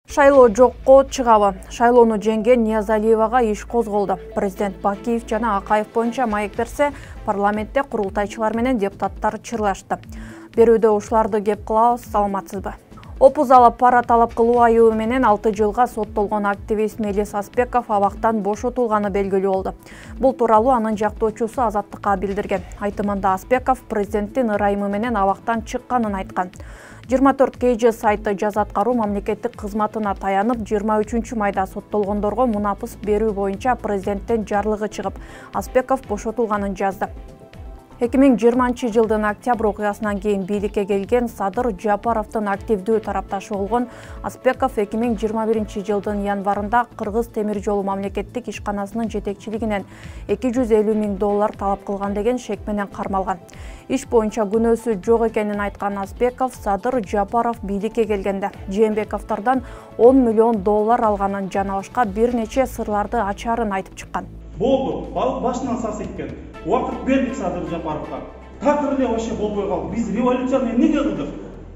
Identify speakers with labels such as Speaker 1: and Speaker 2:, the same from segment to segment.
Speaker 1: Шайлоо жокко чыгабы. Шайлоону жеңген Ниязалиевага иш козголду. Президент Бакиев жана Акаев боюнча маек берсе, парламентте курултайчылар менен депутаттар чырлашты. Берүүдө ушуларды кеп кылабыз, саламатсызбы? Опуз алып пара талап кылуу айыбы менен 6 жылга соттолгон активист Мелис Аспеков абактан бошотулганы белгилүү болду. Бул тууралуу анын жактоочусу Азаттыкка билдирген. Айтымында Аспеков президенттин ырайымы менен абактан чыкканын айткан. 24 KG сайты жаза аткаруу мамлекеттик кызматына таянып, 23 майда соттолгондорго мунапыс берүү боюнча президенттен жарлыгы чыгып, Аспеков бошотулганын жазды. 2020 жылдын октябрь окуясынан кийин бийликке келген Садыр Жапаровдун активдүү тарапташы болгон Аспеков 2021 жылдын январында Кыргыз темир жолу мамлекеттик ишканасынын жетекчилигинен $250 000 талап кылган деген шек менен кармалган. Иш боюнча күнөөсү жок экенин айткан Аспеков Садыр Жапаров бийликке келгенде Жээнбековдордон $10 million алганын жана башка бир нече сырларды ачаарын айтып чыккан.
Speaker 2: Болду, башынан сас эккен. Убакыт бердик Садыр Жапаровго. Такыр эле вообще болбой калды. Биз революцияны эмнеге кылдык?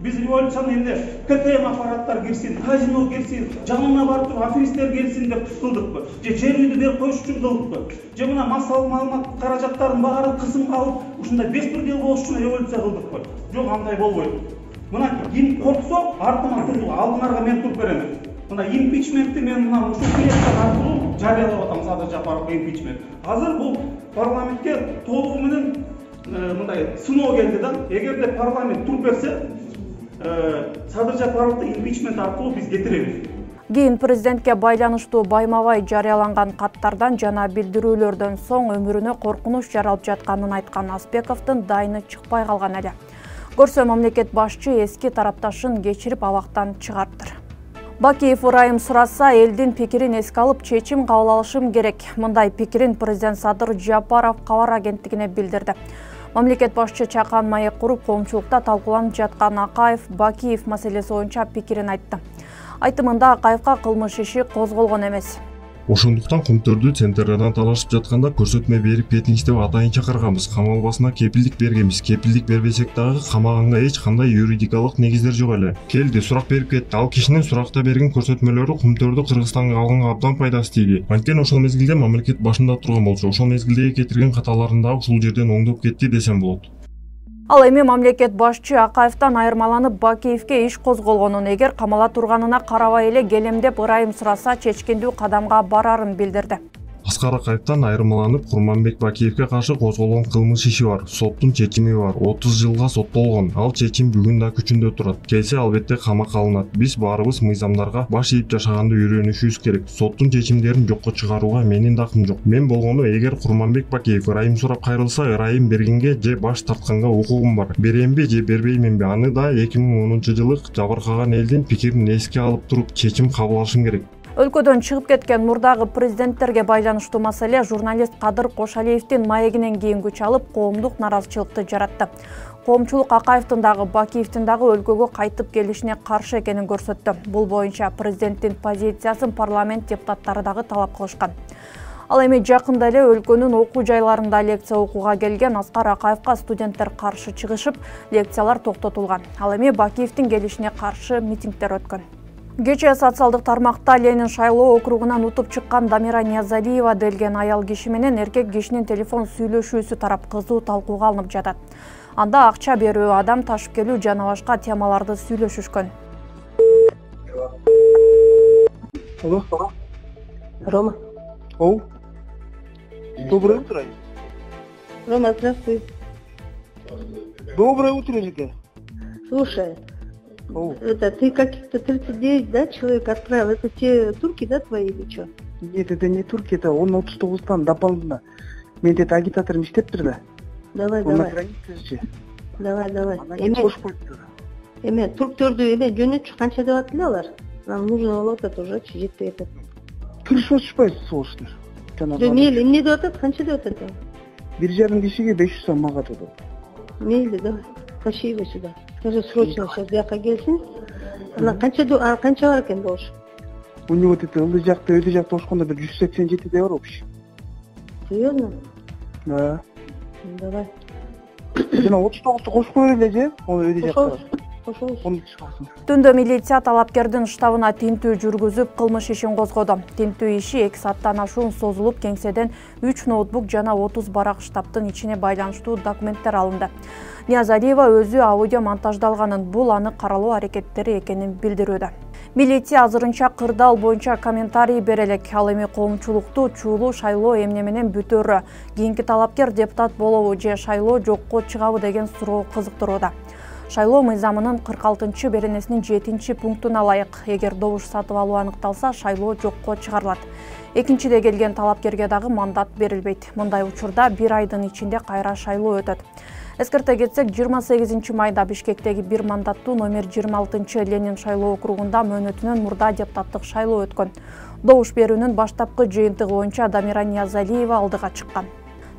Speaker 2: Биз революцияны эмне КТМ аппараттар кирсин, казино кирсин, жанына барып туруп аферисттер келсин деп кылдыкпы? Же жер үйдү берип коюш үчүн кылдыкпы? Же мына массалык маалымат каражаттарын баарын кысымга алып, ушундай беспредел болуш үчүн революция кылдыкпы? Жок, андай болбойт. Мына ким корксо, артыма туруп, алдыңарга мен туруп берем. Мына импичментти мен мына ушул кеңештер аркылуу жарыялап атам Садыр Жапаровго импичмент. Азыр бул парламентке толугу менен мындай сыноо келди да. Эгерде парламент туруп берсе, Садыр Жапаровду импичмент аркылуу биз кетиребиз.
Speaker 1: Кийин президентке байланыштуу байма-бай жарыяланган каттардан жана билдирүүлөрдөн соң өмүрүнө коркунуч жаралып жатканын айткан Аспековдун дайыны чыкпай калган эле. Көрсө мамлекет башчы эски тарапташын кечирип абактан чыгарыптыр. Бакиев ырайым сураса, элдин пикирин эске алып чечим кабыл алышым керек. Мындай пикирин президент Садыр Жапаров кабар агенттигине билдирди. Мамлекет башчы чакан маек куруп, коомчулукта талкууланып жаткан Акаев Бакиев маселеси боюнча пикирин айтты. Айтымында Акаевга кылмыш иши козголгон эмес.
Speaker 3: Ошондуктан кумтөрдү центрдан талашып жатканда көрсөтмө берип кетиңиз деп атайын чакырганбыз. Камалбасына кепилдик бергенбиз. Кепилдик бербесек дагы камаганга эч кандай юридикалык негиздер жок эле. Келди, сурак берип кетти. Ал кишинин суракта берген көрсөтмөлөрү кумтөрдү Кыргызстанга алганга абдан пайдасы тийди. Анткени ошол мезгилде мамлекет башында турган болчу. Ошол мезгилдеги кетирген каталарын дагы ушул жерден оңдоп кетти десем болот.
Speaker 1: Ал эми мамлекет башчы Акаевтан айырмаланып Бакиевке иш козголгонун, эгер камала турганына карабай эле келемдеп ырайым сураса чечкиндүү кадамга барарын билдирди.
Speaker 3: Аскар Акаевтан айырмаланып Курманбек Бакиевке каршы козголгон кылмыш иши бар. Соттун чечими бар. 30 жылга соттолгон. Ал чечим бүгүн да күчүндө турат. Келсе албетте камакка алынат. Биз баарыбыз мыйзамдарга баш ийип жашаганды үйрөнүшүбүз керек. Соттун чечимдерин жокко чыгарууга менин дакым жок. Мен болгону, эгер Курманбек Бакиев ырайым сурап кайрылса, ырайым бергенге же баш тартканга укугум бар. Беремби же бербейминби? Аны да 2010 жылы жабыркаган элдин пикирин эске алып туруп чечим кабыл алышым керек.
Speaker 1: Өлкөдөн чыгып кеткен мурдагы президенттерге байланыштуу маселе журналист Кадыр Кошалиевдин маегинен кийин күч алып, коомдук наразычылыкты жаратты. Коомчулук Акаевдин дагы Бакиевдин дагы өлкөгө кайтып келишине каршы экенин көрсөттү. Бул боюнча президенттин позициясын парламент депутаттары дагы талап кылышкан. Ал эми жакында эле өлкөнүн окуу жайларында лекция окууга келген Аскар Акаевга студенттер каршы чыгышып, лекциялар токтотулган. Ал эми Бакиевдин келишине каршы митингдер өткөн. Кечээ социалдык тармакта Ленин шайлоо округунан утуп чыккан Дамира Ниязалиева делген аял киши менен эркек кишинин телефон сүйлөшүүсү тарап кызуу талкууга алынып жатат. Анда акча берүү, адам ташып келүү жана башка темаларды сүйлөшүшкөн.
Speaker 4: Алло.
Speaker 5: Рома.
Speaker 4: Оу. Доброе утро.
Speaker 5: Рома, здравствуй.
Speaker 4: Доброе утро, Жека.
Speaker 5: Слушай,
Speaker 4: Оу.
Speaker 5: это ты каких-то 39, да, человек отправил? Это те турки, да, твои или что?
Speaker 4: Нет, это не турки, это он 39-тан дополнительно. Ментет агитаторым иштептир да.
Speaker 5: Давай,
Speaker 4: Он на
Speaker 5: давай.
Speaker 4: границе же.
Speaker 5: Давай.
Speaker 4: Эме кошуп коюптур.
Speaker 5: Эме турктөрдү эме жөнөтчү канча деп атты алар? Нам нужно болуп атат уже, жетпей атат.
Speaker 4: Киришип атышпайбы сволочтор?
Speaker 5: Мейли, эмне деп атат? Канча деп атат?
Speaker 4: 1,5 кишиге 500 сом мага атат.
Speaker 5: Мейли, давай. Тащи его сюда. Скажи, срочно сейчас бияка келсин. Ана канча бар экен болуш?
Speaker 4: У него вот это ылдый жакта, өйдө жакта ошкондо бир 187 де бар общий.
Speaker 5: Серьезно?
Speaker 4: Да.
Speaker 5: Давай.
Speaker 4: Жана 39-ту кошуп коелу эле же? Ол өйдө жакта.
Speaker 5: кошобуз.
Speaker 1: Түндө милиция талапкердин штабына тинтүү жүргүзүп, кылмыш ишин козгоду. Тинтүү иши 2 сааттан ашуун созулуп, кеңседен 3 ноутбук жана 30 барак штабтын ичине байланыштуу документтер алынды. Ниязалиева өзү аудио монтаждалганын, бул аны каралоо аракеттери экенин билдирүүдө. Милиция азырынча кырдаал боюнча комментарий бере элек. Ал эми коомчулукту чуулуу шайлоо эмне менен бүтөөрү, кийинки талапкер депутат болобу же шайлоо жокко чыгабы деген суроо кызыктырууда. Шайлоо мыйзамынын 46 беренесинин 7 пунктуна ылайык, эгер добуш сатып алуу аныкталса, шайлоо жокко чыгарылат. Экинчиде келген талапкерге дагы мандат берилбейт. Мындай учурда 1 айдын ичинде кайра шайлоо өтөт. Эскерте кетсек, 28 майда Бишкектеги 1 мандаттуу номер 26 Ленин шайлоо округунда мөөнөтүнөн мурда депутаттык шайлоо өткөн. Добуш берүүнүн баштапкы жыйынтыгы боюнча Дамира Ниязалиева алдыга чыккан.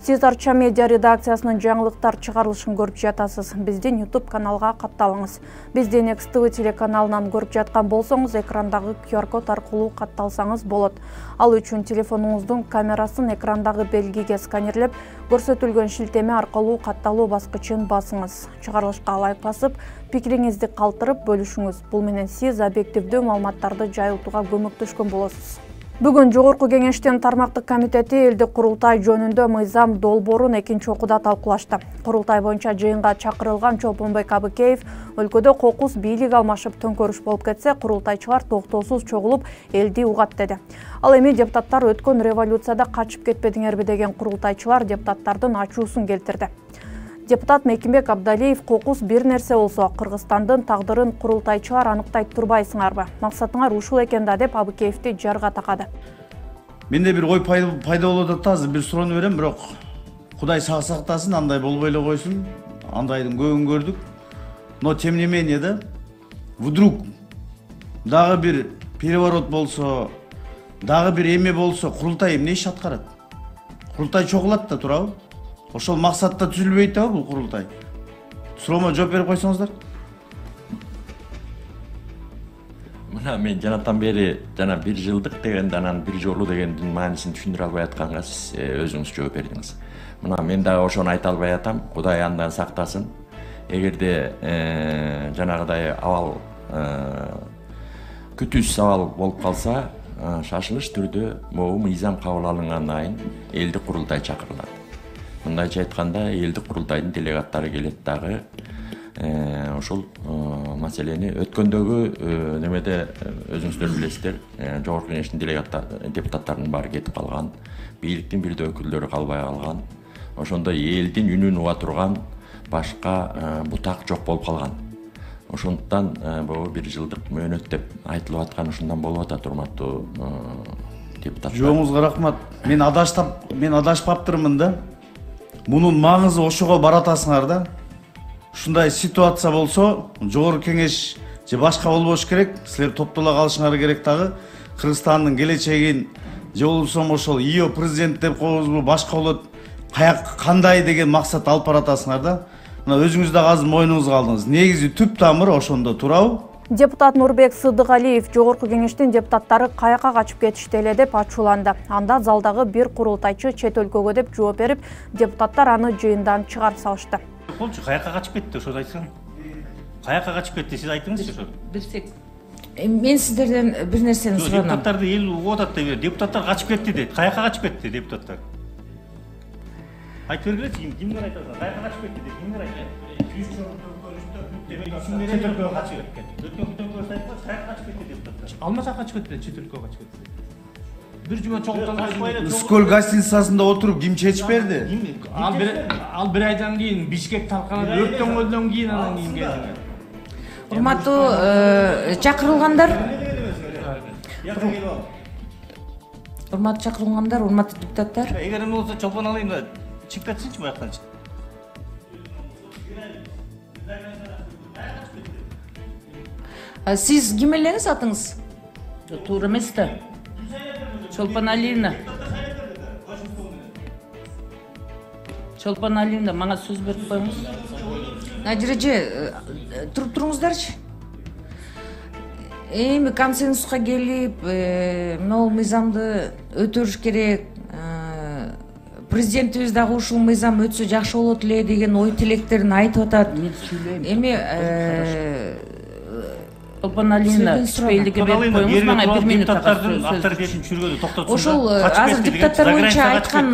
Speaker 1: Сиз Арча медиа редакциясынын жаңылыктар чыгарылышын көрүп жатасыз. Биздин YouTube каналга катталыңыз. Бизди Next TV телеканалынан көрүп жаткан болсоңуз, экрандагы QR код аркылуу катталсаңыз болот. Ал үчүн телефонуңуздун камерасын экрандагы белгиге сканерлеп, көрсөтүлгөн шилтеме аркылуу катталуу баскычын басыңыз. Чыгарылышка лайк басып, пикириңизди калтырып бөлүшүңүз. Бул менен сиз объективдүү маалыматтарды жайылтууга көмөктөшкөн болосуз. Бүгүн Жогорку Кеңештин тармактык комитети элдик курултай жөнүндө мыйзам долбоорун экинчи окууда талкуулашты. Курултай боюнча жыйынга чакырылган Чолпонбек Абыкеев өлкөдө кокус бийлик алмашып төңкөрүш болуп кетсе, курултайчылар токтоосуз чогулуп элди угат деди. Ал эми депутаттар өткөн революцияда качып кетпедиңерби деген курултайчылар депутаттардын ачуусун келтирди. Депутат Мекимбек Абдалиев кокус бир нерсе болсо, Кыргызстандын тагдырын курултайчылар аныктай турбайсыңарбы? Максатыңар ушул экен да деп Абыкеевди жарга такады.
Speaker 6: Менде бир ой пайда болуп атат, азыр бир суроону берем, бирок Кудай сак сактасын, андай болбой эле койсун. Андайдын көбүн көрдүк. Но тем не менее да, вдруг дагы бир переворот болсо, дагы бир эме болсо, курултай эмне иш аткарат? Курултай чогулат да турабы? Ошол максатта түзүлбөйт да бул курултай. Суроомо жооп берип койсоңуздар.
Speaker 7: Мына мен жанатан бери жана 1 жылдык дегенде анан 1 жолу дегендин маанисин түшүндүрө албай атканга сиз өзүңүз жооп бердиңиз. Мына мен дагы ошону айта албай атам. Кудай андан сактасын. Эгерде жанагыдай абал күтүүсүз абал болуп калса, шашылыш түрдө могу мыйзам кабыл алынгандан кийин элдик курултай чакырылат. Мындайча айтканда, элдик курултайдын делегаттары келет дагы ошол маселени өткөндөгү немеде өзүңүздөр билесиздер, Жогорку Кеңештин депутаттарынын баары кетип калган, бийликтин бир да өкүлдөрү калбай калган, ошондой элдин үнүн уга турган башка бутак жок болуп калган. Ошондуктан бул 1 жылдык мөөнөт деп айтылып аткан ушундан болуп атат, урматтуу депутаттар.
Speaker 6: Жооңузга рахмат. Мен адашпаптырмын да. Мунун маңызы ошого баратасыңар да. Ушундай ситуация болсо, Жогорку Кеңеш же башка болбош керек, силер топтола калышыңар керек дагы. Кыргызстандын келечегин же болбосо ошол ИО президент деп коебузбу, башка болот, кандай деген максат алып баратасыңар да. Мына өзүңүз дагы азыр мойнуңузга алдыңыз. Негизи түп тамыры ошондо турабы?
Speaker 1: Депутат Нурбек Сыдыгалиев Жогорку Кеңештин депутаттары каяка качып кетишти эле деп ачууланды. Анда залдагы бир курултайчы чет өлкөгө деп жооп берип, депутаттар аны жыйындан чыгарып салышты.
Speaker 8: Болчу, каяка качып кетти, ошону айтсаң. Каяка качып кетти, сиз айтыңызчы ошо.
Speaker 9: Билсек. Мен сиздерден бир нерсени суранам.
Speaker 8: Депутаттарды эл угуп атат деп, депутаттар качып кетти дейт. Каяка качып кетти депутаттар? Айтып бергилечи, кимдер айтат? Каяка качып кетти дейт, кимдер айтат?
Speaker 10: Алмаса качып кетти, чет өлкөгө качып кетти. Бир жума чогултан
Speaker 6: Скол гостиницасында отуруп ким чечип берди?
Speaker 10: Ал бир айдан кийин Бишкек талканып өрттөнгөндөн кийин анан кийин келди.
Speaker 9: Урматтуу чакырылгандар. Урматтуу чакырылгандар, урматтуу депутаттар.
Speaker 8: Эгер эме болсо чолпон алайын да, чыгып кетсинчи буяктан.
Speaker 9: Сиз ким элеңиз атыңыз? Туура эмес да. Чолпон Алиевна. Чолпон Алиевна, мага сөз берип коюңуз. Надир эже, туруп туруңуздарчы. Эми консенсуска келип, могу мыйзамды өтөрүш керек, президентибиз дагы ушул мыйзам өтсө жакшы болот эле деген ой тилектерин айтып атат. Эми Чолпон Алина түшпөйлүгү берип коюңуз, мага 1 минутка сөз. Ошол азыр депутаттар боюнча айткан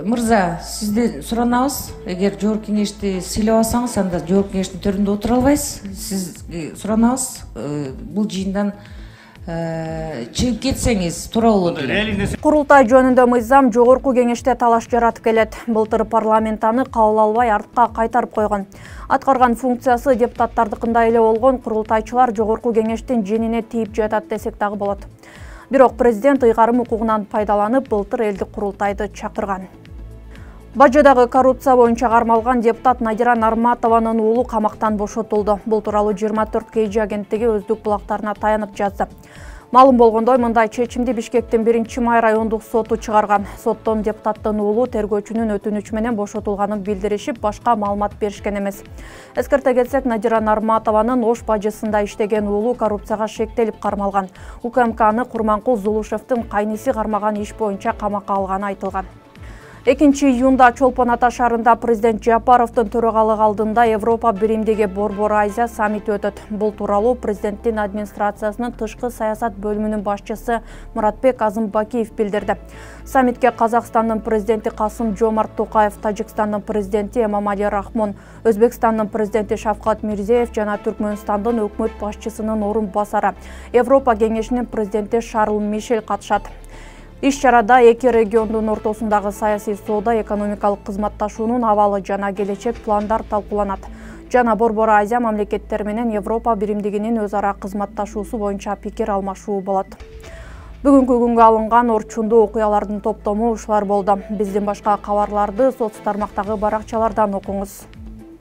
Speaker 9: мырза, сизден суранабыз. Эгер жогорку кеңешти сыйлабасаңыз, анда жогорку кеңештин төрүндө отура албайсыз. Сизге суранабыз. Бул жыйындан чыгып кетсеңиз туура болот эле.
Speaker 1: Курултай жөнүндө мыйзам жогорку кеңеште талаш жаратып келет. Былтыр парламент аны кабыл албай артка кайтарып койгон. Аткарган функциясы депутаттардыкындай эле болгон курултайчылар жогорку кеңештин женине тийип жатат десек дагы болот. Бирок президент ыйгарым укугунан пайдаланып былтыр элдик курултайды чакырган. Бажыдагы коррупция боюнча кармалган депутат Надира Нарматованын уулу камактан бошотулду. Бул тууралуу 24 KG агенттиги өздүк булактарына таянып жазды. Малым болгондой, мындай чечимди Бишкектин 1-май райондук соту чыгарган. Соттон депутаттын уулу тергөөчүнүн өтүнүчү менен бошотулганын билдиришип, башка маалымат беришкен эмес. Эскерте кетсек, Надира Нарматованын Ош бажысында иштеген уулу коррупцияга шектелип кармалган. УКМК аны Курманкул Зулушевдин кайниси кармаган иш боюнча камакка алганы айтылган. 2-июнда Чолпон Ата шаарында президент Жапаровдун төрагалыгы алдында Европа биримдиги Борбор Азия саммити өтөт. Бул тууралуу президенттин администрациясынын тышкы саясат бөлүмүнүн башчысы Муратбек Азымбакиев билдирди. Саммитке Казакстандын президенти Касым-Жомарт Токаев, Тажикстандын президенти Эмомали Рахмон, Өзбекстандын президенти Шавкат Мирзиеев жана Түркмөнстандын өкмөт башчысынын орун басары, Европа кеңешинин президенти Шарл Мишель катышат. Иш-чарада эки региондун ортосундагы саясий соода, экономикалык кызматташуунун абалы жана келечек пландар талкууланат. Жана Борбор Азия мамлекеттери менен Европа биримдигинин өз ара кызматташуусу боюнча пикир алмашуу болот. Бүгүнкү күнгө алынган орчундуу окуялардын топтому ушулар болду. Биздин башка кабарларды соц тармактагы баракчалардан окуңуз.